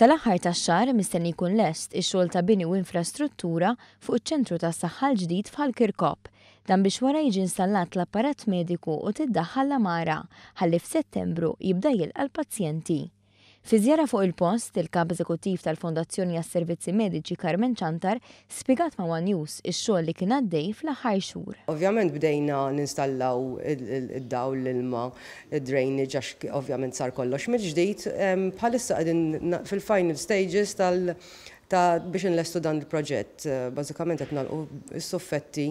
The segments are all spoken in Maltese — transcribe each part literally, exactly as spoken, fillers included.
Sal-aħħar tax-xahar mistenni jkun lest ix-xogħol ta' bini u infrastruttura fuq iċ-ċentru tas-saħħa l-ġdid f'Ħal Kirkop. Dan biex wara jiġi installat l-apparat mediku u tiddaħħal l-għamara ħalli f'Settembru jibda jilqa' l-pazjenti. Fi żjara fuq il-post, il-kap eżekuttiv tal-Fondazzjoni għas-Servizzi Mediċi Carmen Ciantar spjegat ma' One News ix-xogħol li kien għaddej fl-aħħar xhur. Ovvjament bdejna ninstallaw id-dawl, l-ilma, id-drainage, għax ovvjament sar kollox mill-ġdid. Bħalissa qegħdin fil-final stages tal- ta' biex nlestu dan il-proġett. Bażikament qed nagħlqu s-suffetti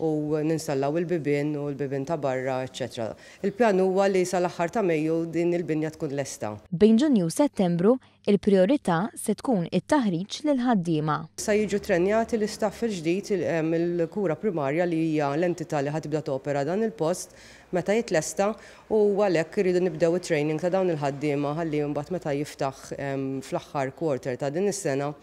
u ninstallaw il-bibien u l-bibien ta' barra, eċċetera. Il-pjan huwa li sal-aħħar ta' Mejju din il-binja tkun lesta. Bejn Ġunju u Settembru, il-priorità se tkun it-taħriġ lil ħaddiema. Sa jiġu trenjati l-istaff il-ġdid mill-kura primarja, li hija l-entità li ħa tibda topera dan il-post meta jitlesta, u għalhekk irridu nibdew it-training ta' dawn il-ħaddiema ħalli mbagħad meta jiftaħ fl-aħħar quarter ta' din is-sena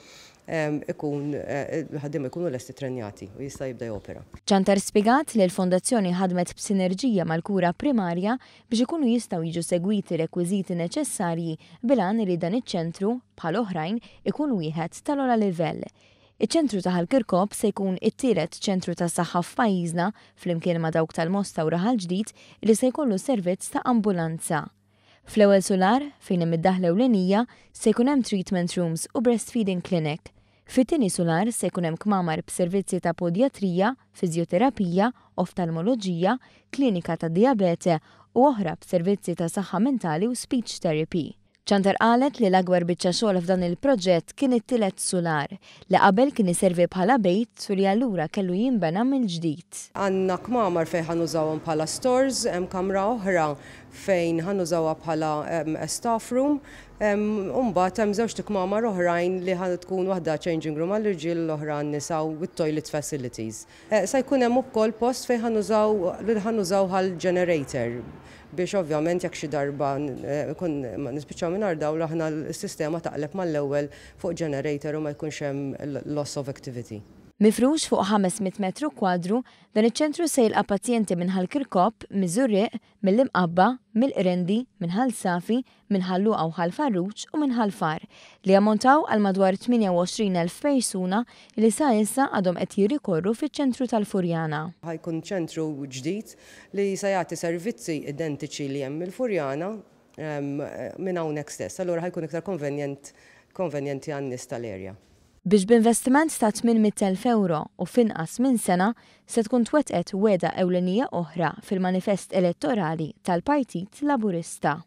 ikun il-ħaddiema jkunu lesti trenjati u jista' jibda jopera. Ciantar spjegat li l-fondazzjoni ħadmet b'sinerġija mal-kura primarja biex ikunu jistgħu jiġu segwiti rekwiżiti neċessarji bil-għan li dan iċ-ċentru, bħal oħrajn, ikun wieħed tal-ogħla livell. Iċ-ċentru ta' Ħal Kirkop se jkun it-tielet ċentru ta' saħħa f'pajjiżna, flimkien ma' dawk tal-Mosta u Raħal Ġdid, li se jkollu servizz ta' ambulanza. Fl-ewwel solar, fejn hemm id-daħla ewlenija, se jkun hemm treatment rooms u breastfeeding clinic. Fit-tieni solar se jkun hemm kmamar b'servizzi ta' podjatrija, fiżjoterapija, oftalmoloġija, klinika ta' diabete u oħra b'servizzi ta' saħħa mentali u speech therapy. Ciantar qalet li l-akbar biċċa xogħol f'dan il-proġett kien it-tielet solar, li qabel kien iservi bħala bejt u li allura kellu jinbena mill-ġdid. Għandna kmamar fejn ħa nużawhom bħala stores, hemm kamra oħra fejn ħa nużawha bħala staff room, u mbagħad hemm żewġ kmamar oħrajn li ħa tkun waħda changing room għall-irġiel, l-oħra għan-nisa with toilet facilities. Sa jkun hemm ukoll post fejn ħa nużaw li ħa nużaw għal generator biex ovvjament jekk xi darba kun nispiċċaw mingħajr dawl, aħna s-sistema taqleb mal-ewwel fuq generator u ma jkunx hemm loss of activity. Mifrux fuq ħames mitt metru kwadru, dan iċ-ċentru se jilqa' pazjenti minn Ħal Kirkop, miż-Żurrieq, mill-Imqabba, mill-Qrendi, minn Ħal Safi, minn Ħal Luqa u Ħal Farruġ u minn Ħal Far, li jammontaw għal madwar tmienja u għoxrin elf persuna li sa issa għadhom qed jirrikorru fiċ-ċentru tal-Furjana. Ħa jkun ċentru ġdid li se jagħti servizzi identiċi li hemm il-Furjana minn hawnhekk stess. Allura ħa jkun iktar konvenjent konvenjenti għan-nies tal-area. Biex b'investiment ta' tmien mitt elf euro u f'inqas minn sena se tkun twettqet wegħda ewlenija oħra fil-manifest elettorali tal-Partit Laburista.